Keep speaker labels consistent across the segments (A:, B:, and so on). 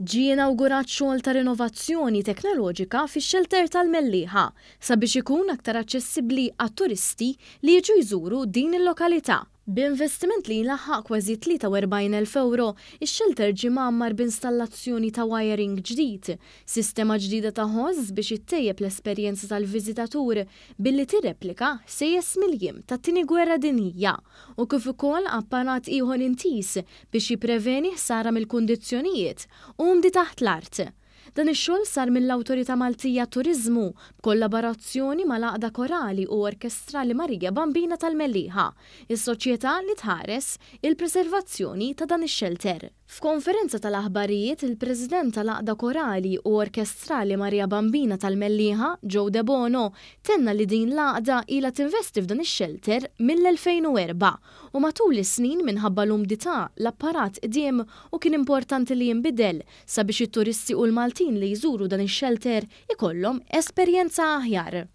A: Ġie inawgurat xogħol ta' rinovazzjoni teknoloġika fix-xelter tal-Mellieħa sabiex ikun aktar aċċessibbli għat-turisti li jiġu jżuru din il-lokalità. B'investiment li jlaħħaq kważi 43,000 ewro, ix-xelter ġie mgħammar b'installazzjoni ta' wiring ġdid, sistema ġdida ta' ħoss biex ittejjeb l-esperjenza tal-viżitatur billi tirreplika ħsejjes mill-jiem tat-Tieni Gwerra Dinjija u kif ukoll apparat ieħor intiż biex jippreveni ħsara mill-kundizzjonijiet umdi taħt l-art. Dan ix-xogħol sar mill-Awtorità Maltija għat-Turiżmu b'kollaborazzjoni mal-Għaqda Korali u Orkestrali Marija Bambina tal-Mellieħa, is-soċjetà li tħares il-preservazzjoni ta' dan ix-xelter. F'konferenza tal-aħbarijiet, il-President tal-Għaqda Korali u Orkestrali Maria Bambina tal-Mellieħa, Joe Debono, tenna li din l-għaqda ilha tinvesti f'dan ix-xelter mill-2004 u matul is-snin minħabba l-umdità l-apparat qdiem u kien importanti li jinbidel sabiex it-turisti u l-Maltin li jżuru dan ix-xelter ikollhom esperjenza aħjar.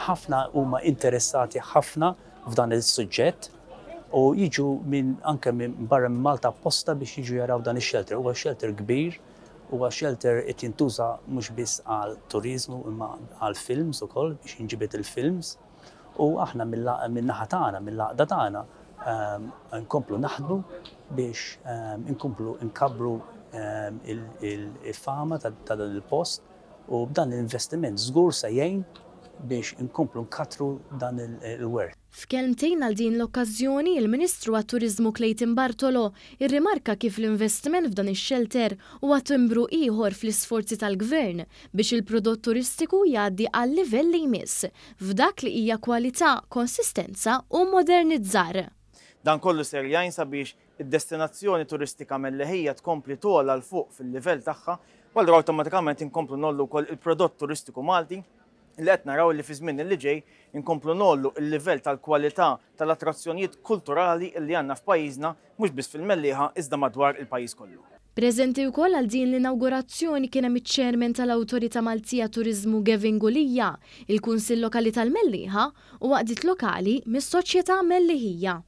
B: Ħafna huma interessati ħafna f'dan is-suġġett u jiġu minn anke minn barra minn Malta apposta biex jiġu jaraw dan ix-shelter. Huwa shelter kbir, huwa shelter qed jintuża mhux biss għal turiżmu imma għal films ukoll biex jinġibed il-films. U aħna min-naħa tagħna, mill-għaqda tagħna, nkomplu naħdmu biex inkomplu nkabbru il-fama ta' dan il-post. U b'dan l-investiment żgur se jgħin biex inkomplu nkattru dan il-wirt.
A: F'kelmtejn għal din l-okkażjoni, il-Ministru għat-Turiżmu Clayton Bartolo rrimarka kif l-investiment f'dan ix-xelter huwa timbru ieħor fl-isforzi tal-Gvern biex il-prodott turistiku jgħaddi għal-livell li jmiss f'dak li hija kwalità, konsistenza u modernizzar.
C: Dan kollu ser jgħin sabiex id-destinazzjoni turistika Melleħija tkompli togħla 'l fuq fil-livell tagħha u allura awtomatikament inkomplu ngħollu wkoll il-prodott turistiku Malti li qed naraw li fi żmien li ġej inkomplu ngħollu l-livell tal-kwalità tal-attrazzjonijiet kulturali li għandna f'pajjiżna mhux biss fil-Mellieħa iżda madwar il-pajjiż kollu.
A: Preżenti wkoll għal din l-inawgurazzjoni kien hemm iċ-Chairman tal-Awtorità Maltija Turiżmu Gavin Gulia, il-Kunsill Lokali tal-Mellieħa u għaqdiet lokali mis-soċjetà Melliħija.